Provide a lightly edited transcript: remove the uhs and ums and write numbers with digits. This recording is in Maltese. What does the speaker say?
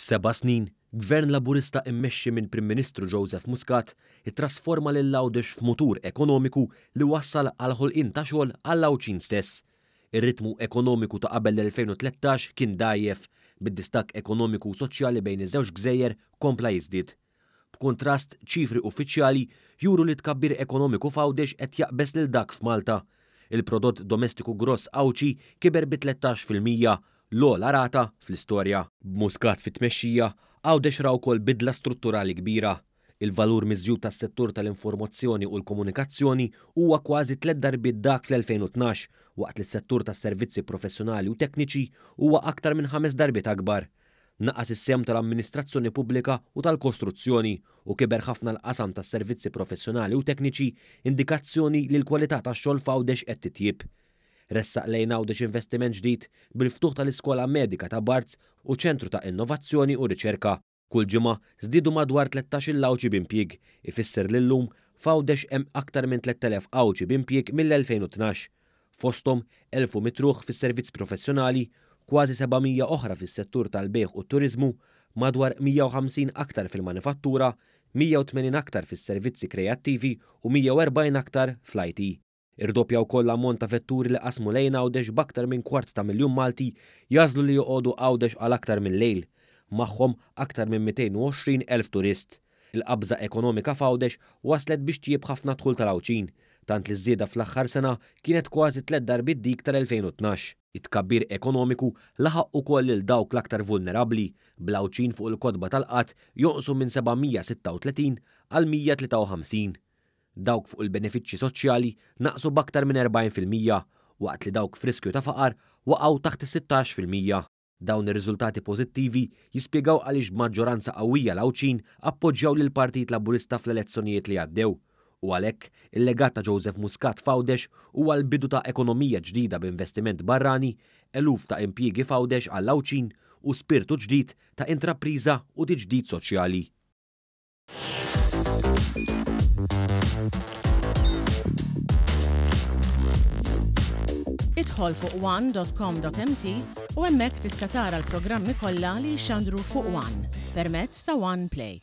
F'seba' snin, Gvern Laburista immexxi minn Prim Ministru Joseph Muscat ittrasforma lil Għawdex f'mutur ekonomiku li wassal għall-ħolqien ta' xogħol għall-Għawdxin stess. Ir-ritmu ekonomiku ta' qabel l-2013 kien dgħajjef, bid-distakk ekonomiku u soċjali bejn iż-żewġ gżejjer kompla jiżdied. B'kuntrast, ċifri uffiċjali juru li t-tkabbir ekonomiku f'Għawdex qed jaqbeż lil dak f'Malta. Il-prodott domestiku gross Għawdxi kiber bi 13%, l-ogħla rata fl-istorja. B'Muscat fit-tmexxija, Għawdex ra wkoll bidla strutturali kbira. Il-valur miżjud tas-settur tal-informazzjoni u l-komunikazzjoni huwa kważi tliet darbiet dak fl-2012, waqt li s-settur tas-servizzi professjonali u tekniċi huwa aktar minn ħames darbiet akbar. Naqas is-sehem tal-amministrazzjoni pubblika u tal-kostruzzjoni u kiber ħafna l-qasam tas-servizzi professjonali u tekniċi, indikazzjoni li l-kwalità tax-xogħol f'Għawdex qed titjieb. Ressaq lejn Għawdex investiment ġdid bil-ftuħ tal-Iskola Medika ta' Barts u ċentru ta' innovazzjoni u riċerka. Kull ġimgħa żdiedu madwar 13-il Għawdxi b'impjieg, ifisser li llum f'Għawdex hemm aktar minn 3,000 Għawdxi b'impjieg mill-2012. Fosthom 1,100 ruħ fis-servizz professjonali, kważi 700 oħra fis-settur tal-bejgħ u t-turiżmu, madwar 150 aktar fil-manifattura, 180 aktar fis-servizzi kreattivi u 140 aktar fl-IT. Irdoppja wkoll l-ammont ta' vetturi li qasmu lejn Għawdex b'aktar minn kwart ta' miljun Malti jagħżlu li joqogħdu Għawdex għal aktar minn lejl. Magħhom aktar minn 220 elf turist. Il-qabża ekonomika f'Għawdex wasslet biex tjieb ħafna d-dħul tal-Għawdxin, tant li ż-żieda fl-aħħar sena kienet kważi tliet darbiet dik tal-2012. It-tkabbir ekonomiku laħaq ukoll lil dawk l-aktar vulnerabbli, bl-Għawdxin fuq il-kotba tal-qgħad jonqsu minn 736 għal 153. Dawk fuq il-benefiċċji soċjali naqsu b'aktar minn 40%, waqt li dawk f'riskju ta' faqar waqgħu taħt is-16%. Dawn ir-riżultati pożittivi jispjegaw għaliex b'maġġoranza qawwija l-Għawdxin appoġġjaw lill-Partit Laburista fl-elezzjonijiet li għaddew. U għalhekk, il-legat ta' Joseph Muscat f'Għawdex huwa l-bidu ta' ekonomija ġdida b'investiment barrani, eluf ta' impjiegi f'Għawdex għall-Għawdxin u spirtu ġdid ta' intrapriża u tiġdid soċjali. Idħol fuq one.com.mt u hemmhekk tista' tara l-programmi kollha li jixxandru fuq One permezz ta' One Play.